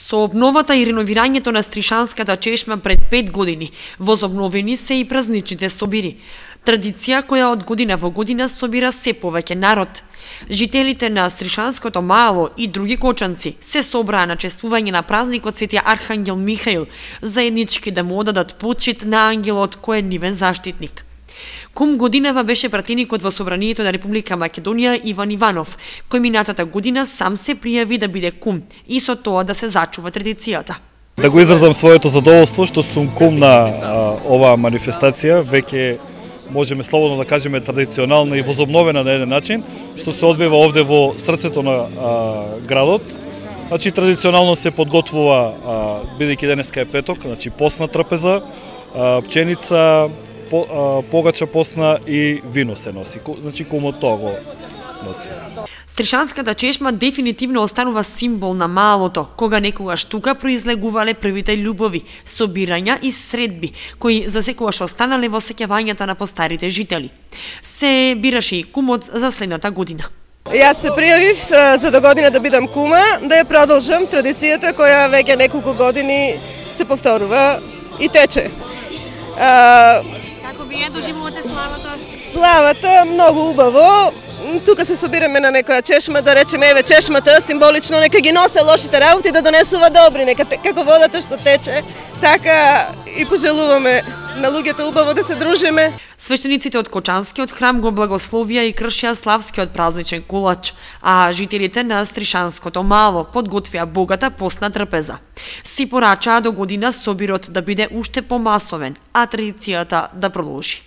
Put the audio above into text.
Со обновата и реновирањето на Стришанската чешма пред 5 години, возобновени се и празничните собири. Традиција која од година во година собира се повеќе народ. Жителите на Стришанското мало и други кочанци се собраа на чествување на празникот Свети Архангел Михаил, заеднички да му одадат почит на ангелот кој е нивен заштитник. Кум годинава беше пратеникот во Собранието на Република Македонија Иван Иванов, кој минатата година сам се пријави да биде кум и со тоа да се зачува традицијата. Да го изразам своето задоволство што сум кум на оваа манифестација, веќе можеме слободно да кажеме традиционална и возобновена на еден начин, што се одвива овде во срцето на градот. Значи традиционално се подготвува, бидејќи денеска е петок, значи постна трапеза, пченица, погача постна и вино се носи. Значи кумот тоа го носи. Стришанската чешма дефинитивно останува символ на малото, кога некогаш тука произлегувале првите љубови, собирања и средби, кои засекогаш останале во сеќавањата на постарите жители. Се бираше и кумот за следната година. Јас се пријавив за до година да бидам кума, да ја продолжам традицијата која веќе неколку години се повторува и тече. Како вие доживувате славата? Славата многу убаво. Тука се собираме на некоја чешма, да речеме еве чешмата символично нека ги носе лошите работи да донесува добри, нека како водата што тече, така и пожелуваме на луѓето убаво да се дружиме. Свештениците од Кочанскиот храм го благословија и кршија славскиот празничен кулач, а жителите на Стришанското мало подготвија богата постна трпеза. Си порачаа до година собирот да биде уште помасовен, а традицијата да продолжи.